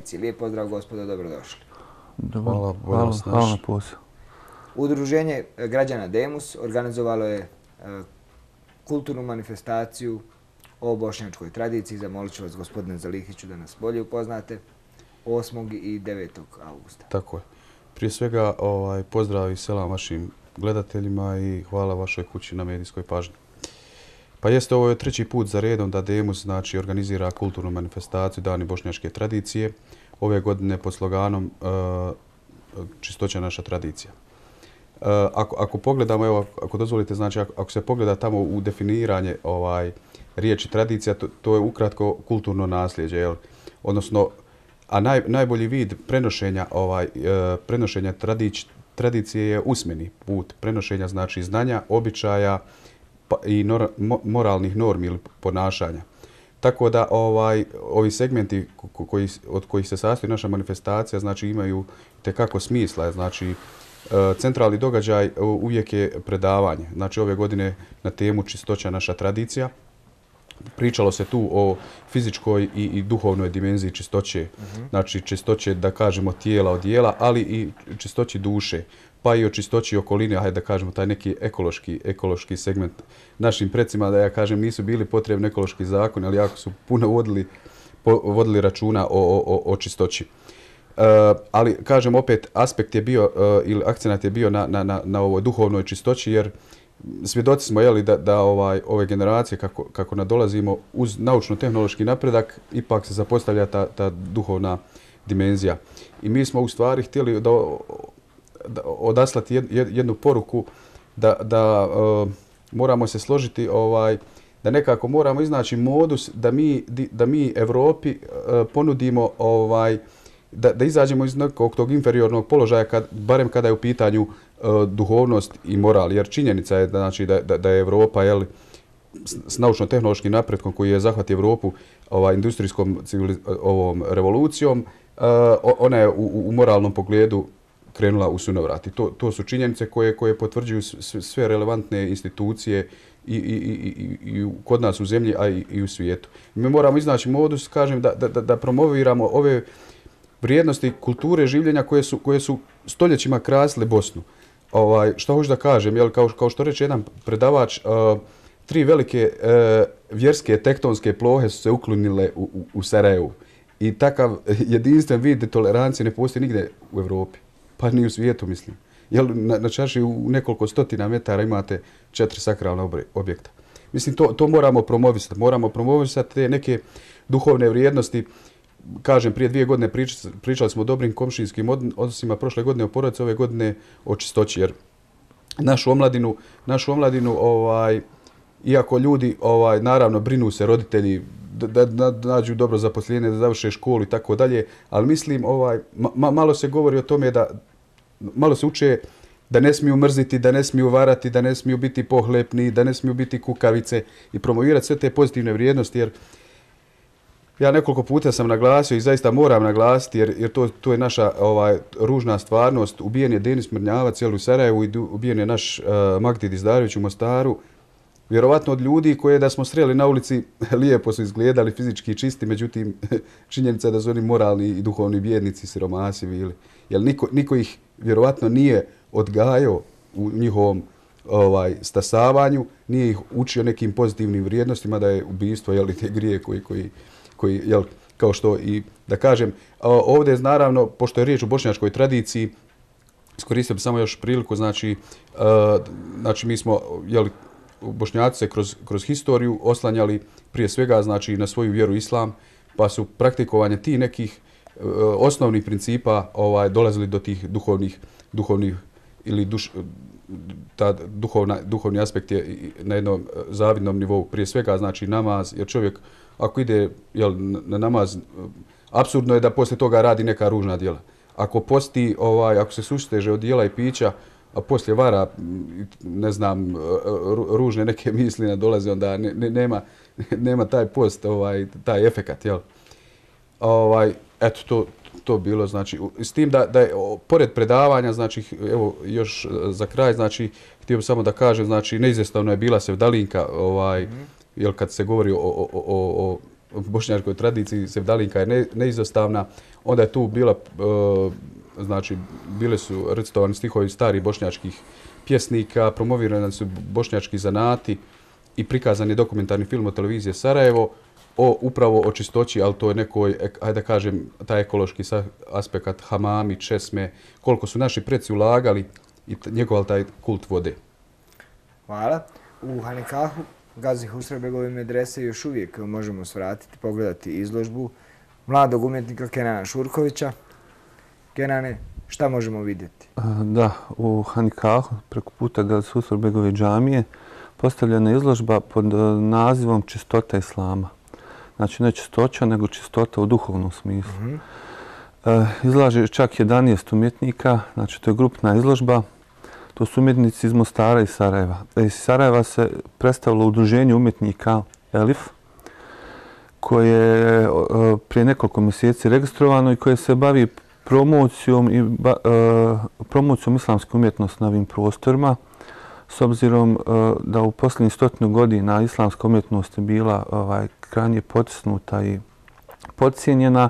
tradicije. Lijep pozdrav, gospodo, dobrodošli. Hvala na pozivu. Udruženje građana Demus organizovalo je kulturnu manifestaciju o bošnjačkoj tradiciji. Zamolit ću vas, gospodine Zalihiću, da nas bolje upoznate 8. i 9. augusta. Tako je. Prije svega pozdrav i selam vašim gledateljima i hvala vašoj kući na medijskoj pažnji. Pa jeste, ovo je treći put za redom da Demus organizira kulturnu manifestaciju Dani bošnjačke tradicije. Ove godine pod sloganom Čistoća naša tradicija. Ako pogledamo, evo, ako dozvolite, znači ako se pogleda tamo u definiranje riječi tradicija, to je ukratko kulturno nasljeđe, odnosno, a najbolji vid prenošenja tradicije je usmeni put prenošenja, znači znanja, običaja i moralnih normi ili ponašanja. Tako da ovi segmenti od kojih se sastoji naša manifestacija, znači imaju tekako smisla. Znači, centralni događaj uvijek je predavanje. Znači, ove godine na temu Čistoća naša tradicija. Pričalo se tu o fizičkoj i duhovnoj dimenziji čistoće. Znači, čistoće, da kažemo, tijela od dijela, ali i čistoći duše. Pa i o čistoći okoline, hajde da kažemo, taj neki ekološki segment. Našim precima, da ja kažem, nisu bili potrebni ekološki zakon, ali jako su puno vodili računa o čistoći. Ali, kažem, opet, aspekt je bio, ili akcenat je bio na ovoj duhovnoj čistoći, jer svjedoci smo da ove generacije, kako nadolazimo, uz naučno-tehnološki napredak, ipak se zapostavlja ta duhovna dimenzija. I mi smo u stvari htjeli odaslati jednu poruku da moramo se složiti, da nekako moramo iznaći modus da mi Evropi ponudimo, da izađemo iz nekog tog inferiornog položaja, barem kada je u pitanju duhovnost i moral. Jer činjenica je da je Evropa s naučno-tehnološkim napretkom koji je zahvatio Evropu industrijskom revolucijom, ona je u moralnom pogledu krenula u sunovrat. I to su činjenice koje potvrđuju sve relevantne institucije i kod nas u zemlji, a i u svijetu. Mi moramo iznaći modus, kažem, da promoviramo ove vrijednosti kulture življenja koje su stoljećima krasile Bosnu. Što hoću da kažem, kao što reče jedan predavač, 3 velike vjerske tektonske plohe su se uklonile u Sarajevu. I takav jedinstven vid tolerancije ne postoji nigde u Evropi, pa ni u svijetu, mislim. Na čaši u nekoliko stotina metara imate 4 sakralna objekta. Mislim, to moramo promovisati. Moramo promovisati te neke duhovne vrijednosti. Kažem, prije 2 godine pričali smo o dobrim komšinskim odnosima, prošle godine o porodici, ove godine o čistoći. Jer našu omladinu, iako ljudi, naravno, brinu se roditelji, da nađu dobro zaposlenje, da završe školu i tako dalje, ali mislim, malo se govori o tome malo se uče da ne smiju mrziti, da ne smiju varati, da ne smiju biti pohlepni, da ne smiju biti kukavice i promovirati sve te pozitivne vrijednosti, jer ja nekoliko puta sam naglasio i zaista moram naglasiti, jer to je naša ružna stvarnost. Ubijen je Denis Mrnjavac u Sarajevu i ubijen je naš Magdid Izdarević u Mostaru. Vjerovatno od ljudi koje da smo sreli na ulici lijepo su izgledali, fizički čisti, međutim činjenica je da su oni moralni i duhovni bijednici, siromasi bili. Jer niko ih vjerovatno nije odgajao u njihovom stasavanju, nije ih učio nekim pozitivnim vrijednostima, da je ubistvo te grije koji kao što i da kažem, ovdje je naravno, pošto je riječ o bošnjačkoj tradiciji, iskoristio bih samo još priliku, znači mi smo, Bošnjaci se kroz historiju oslanjali prije svega, znači, na svoju vjeru islam, pa su praktikovanje tih nekih osnovnih principa dolazili do tih duhovnih ili duhovni aspekt je na jednom zavidnom nivou. Prije svega, znači, namaz, jer čovjek ako ide na namaz, apsurdno je da poslije toga radi neka ružna djela. Ako posti, ako se susteže od jela i pića, a poslije vara, ne znam, ružne neke misli dolaze, onda nema taj post, taj efekat, jel? Eto, to bilo, znači, s tim da je, pored predavanja, znači, evo, još za kraj, znači, htio bih samo da kažem, znači, neizvjestavno je bila sevdalinka, jel, kad se govori o bošnjačkoj tradiciji sevdalinka je neizostavna. Onda je tu bila, znači, bile su recitovani stihovi starih bošnjačkih pjesnika, promovirani su bošnjački zanati i prikazan je dokumentarni film od televizije Sarajevo upravo o čistoći, ali to je nekoj, ajde da kažem, taj ekološki aspekt hamami, česme, koliko su naši preci ulagali i njegovali taj kult vode. Hvala. U Hanikahu Gazi Husrebegove medrese još uvijek možemo svratiti, pogledati izložbu mladog umjetnika Kenana Šurkovića. Kenane, šta možemo vidjeti? Da, u Hanikahu preko puta Gazi Husrebegove džamije postavljena je izložba pod nazivom Čistota Islama. Znači ne čistoća, nego čistota u duhovnom smislu. Izlaže čak 11 umjetnika, znači to je grupna izložba. To su umjetnici iz Mostara i Sarajeva. Iz Sarajeva se predstavilo udruženje umjetnika Elif, koje je prije nekoliko mjeseci registrovano i koje se bavi promocijom islamske umjetnosti na ovim prostorima. S obzirom da u posljednjih 100 godina islamska umjetnost je bila krajnje potisnuta i podcijenjena,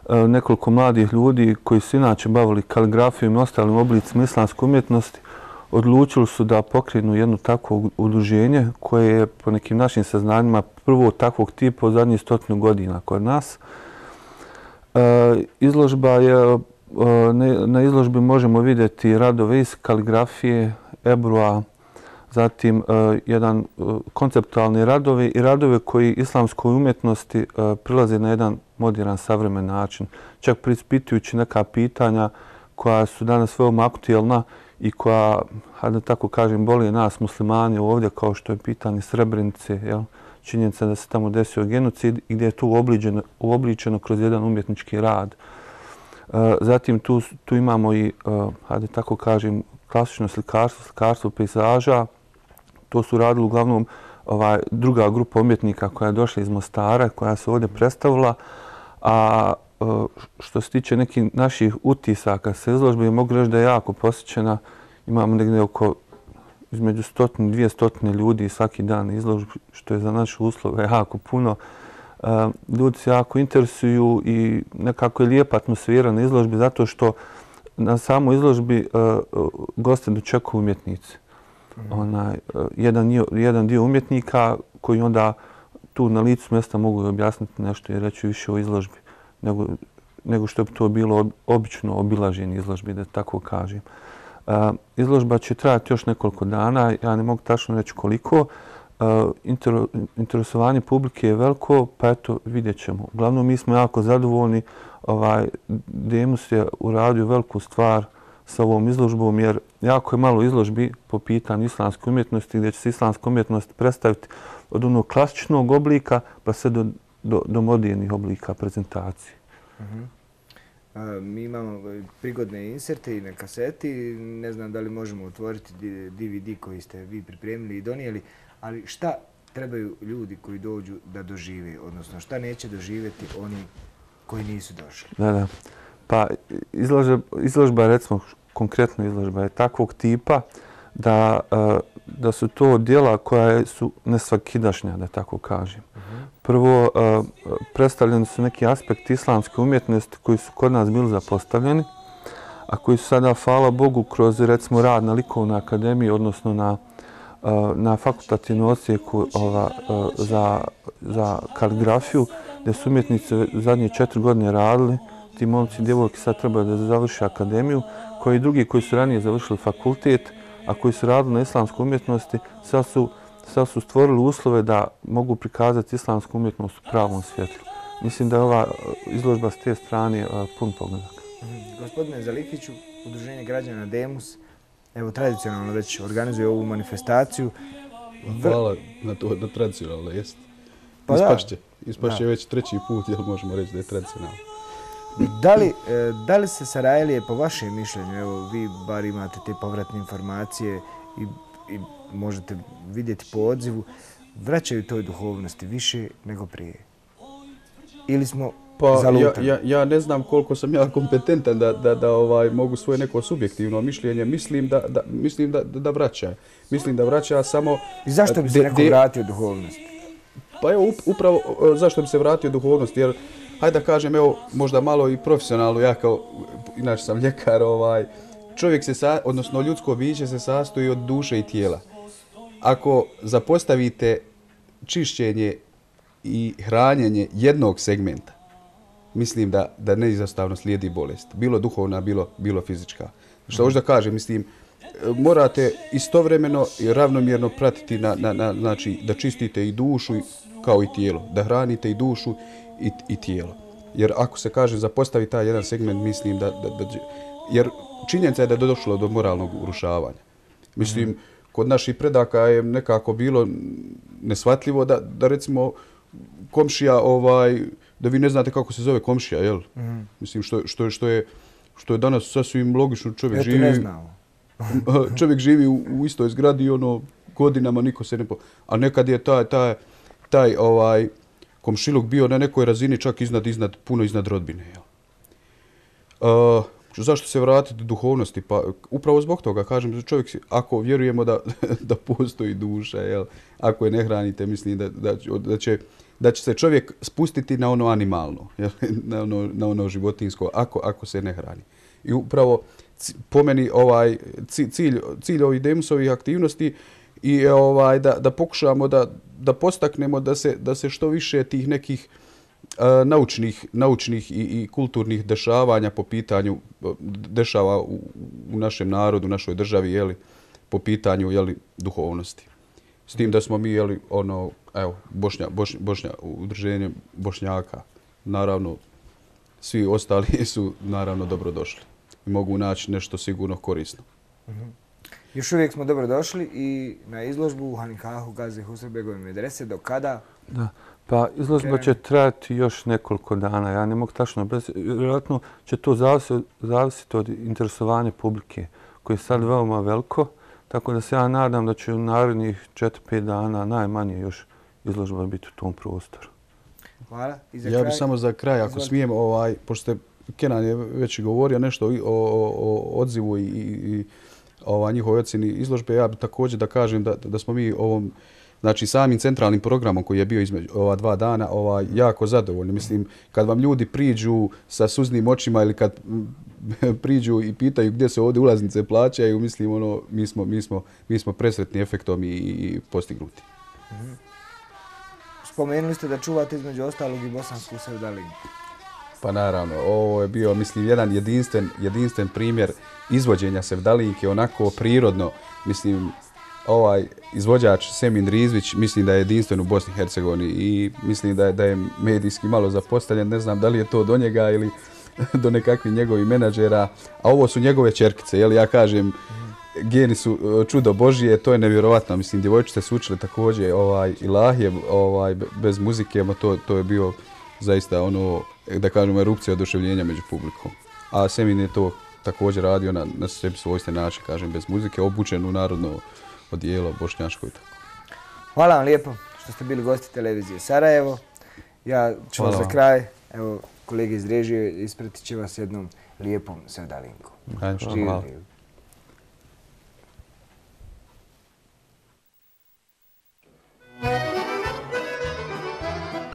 nekoliko mladih ljudi koji su inače bavili kaligrafijom i ostalim oblicima islamske umjetnosti odlučili su da pokrenu jedno takvo udruženje koje je po nekim našim saznanjima prvo takvog tipa u zadnjih 100 godina kod nas. Izložba je, na izložbi možemo vidjeti radove iz kaligrafije, ebrua, zatim jedan konceptualni radovi i radove koji islamskoj umjetnosti prilaze na jedan modern, savremen način. Čak preispitujući neka pitanja koja su danas veoma aktuelna i koja, da tako kažem, boli nas muslimani ovdje, kao što je pitanje Srebrenice, činjenica da se tamo desio genocid i gdje je to uobličeno kroz jedan umjetnički rad. Zatim tu imamo i, da tako kažem, klasično slikarstvo, slikarstvo pejzaža. To su radili uglavnom druga grupa umjetnika koja je došla iz Mostara, koja se ovdje predstavila. A što se tiče nekih naših utisaka sa izložbe, mogu reći da je jako posjećena. Imamo negdje oko između 100-200 ljudi svaki dan izložbi, što je za naše uslove jako puno. Ljudi se jako interesuju i nekako je lijepa atmosfera na izložbi zato što na samoj izložbi goste dočekuju umjetnici. Jedan dio umjetnika koji onda tu na licu mjesta mogu objasniti nešto i reći više o izložbi nego što bi to bilo obično obilaženje izložbi, da tako kažem. Izložba će trajati još nekoliko dana, ja ne mogu tačno reći koliko. Interesovanje publike je veliko, pa eto, vidjet ćemo. Uglavnom, mi smo jako zadovoljni. Demus je uradio veliku stvar sa ovom izložbom, jer jako je malo izložbi po pitanju islamske umjetnosti, gdje će se islamska umjetnost predstaviti od onog klasičnog oblika pa sve do modernih oblika prezentacije. Mi imamo prigodne inserte i na kaseti. Ne znam da li možemo otvoriti DVD koji ste vi pripremili i donijeli, ali šta trebaju ljudi koji dođu da dožive, odnosno šta neće doživjeti oni koji nisu došli? Da. Pa izložba, recimo konkretno izložba je takvog tipa da su to djela koja su nesvakidašnja, da tako kažem. Prvo, predstavljeni su neki aspekti islamske umjetnosti koji su kod nas bili zapostavljeni, a koji su sada, hvala Bogu, kroz recimo rad na likovnoj akademiji, odnosno na fakultativnom odsjeku za kaligrafiju, gdje su umjetnici zadnje 4 godine radili. Ti momci i djevojke sad trebaju da završi akademiju, koji i drugi koji su ranije završili fakultet, a koji su radili na islamskoj umjetnosti, sad su stvorili uslove da mogu prikazati islamsku umjetnost u pravom svjetlu. Mislim da je ova izložba s te strane pun pogledak. Gospodine Zalihiću, Udruženje građana Demus, evo tradicionalno već organizuje ovu manifestaciju. Hvala na to da tradicionalno jest. Ispašće već 3. put, jel možemo reći da je tradicionalno. Da li se Sarajlije, po vašem mišljenju, evo vi bar imate te povratne informacije i možete vidjeti po odzivu, vraćaju toj duhovnosti više nego prije? Ili smo zalutani? Ja ne znam koliko sam ja kompetentan da mogu svoje neko subjektivno mišljenje. Mislim da vraća. Mislim da vraća samo... I zašto bi se neko vratio duhovnosti? Pa evo, upravo zašto bi se vratio duhovnost, jer hajde da kažem, evo, možda malo i profesionalno, ja kao, inače sam ljekar, čovjek odnosno ljudsko biće se sastoji od duše i tijela. Ako zapostavite čišćenje i hranjenje jednog segmenta, mislim da neizostavno slijedi bolest. Bilo duhovna, bilo fizička. Što hoću da kažem, mislim, morate istovremeno i ravnomjerno pratiti znači da čistite i dušu kao i tijelo, da hranite i dušu i tijelo. Jer ako se kaže zapostavi taj jedan segment, mislim jer činjenica je da je došlo do moralnog urušavanja. Mislim, kod naših predaka je nekako bilo neshvatljivo da recimo komšija, da vi ne znate kako se zove komšija, jel? Mislim, što je danas sasvim logično, čovjek živi u istoj zgradi, godinama niko se ne... A nekad je taj komšiluk bio na nekoj razini čak puno iznad rodbine, jel? Zašto se vratiti duhovnosti? Pa upravo zbog toga, kažem, čovjek, ako vjerujemo da postoji duša, jel? Ako je ne hranite, mislim da će se čovjek spustiti na ono animalno, jel? Na ono životinjsko, ako se ne hrani. I upravo po meni cilj ovih Demusovih aktivnosti i da pokušamo da postaknemo da se što više tih nekih naučnih i kulturnih dešavanja po pitanju dešava u našem narodu, u našoj državi, jeli, po pitanju, jeli, duhovnosti. S tim da smo mi, jeli, udruženje Bošnjaka, naravno, svi ostali su naravno dobrodošli i mogu naći nešto sigurno korisno. Još uvijek smo dobrodošli i na izložbu u Hanikahu Gazi Husrebegove medrese. Do kada? Da. Pa izložba će trajati još nekoliko dana. Ja ne mogu tačno, vjerojatno će to zavisiti od interesovanja publike, koje je sad veoma veliko. Tako da se ja nadam da će u narednih 4-5 dana najmanje još izložba biti u tom prostoru. Hvala. Ja bih samo za kraj, ako smijem, pošto Kenan je već govorio nešto o odzivu i njihovoj ocjeni izložbe, ja bih također da kažem da smo mi ovom, znači samim centralnim programom koji je bio između ova 2 dana jako zadovoljni. Mislim, kad vam ljudi priđu sa suznim očima ili kad priđu i pitaju gdje se ovdje ulaznice plaćaju, mislim, mi smo presretni efektom i postignuti. Spomenuli ste da čuvate između ostalog i bosansku sevdalinku. Pa naravno, ovo je bio, mislim, jedan jedinstven primjer izvođenja sevdalinke, onako prirodno. Mislim, ovaj izvođač Semin Rizvić, mislim da je jedinstven u Bosni i Hercegovini i mislim da je medijski malo zapostavljen. Ne znam da li je to do njega ili do nekakvih njegovih menadžera, a ovo su njegove ćerkice. Ja kažem, geni su čudo Božije, to je nevjerovatno. Mislim, djevojčice su učile također ilahije bez muzike, to je bio zaista ono, da kažemo, erupcija oduševljenja među publikom. A Semin je to također radio na sebi svojstven način, kažem, bez muzike, obučen u narodno odijelo bošnjaško i tako. Hvala vam lijepo što ste bili gosti televizije Sarajevo. Ja ću vas za kraj, evo, kolege iz režije ispratit će vas jednom lijepom sevdalinkom. Hvala.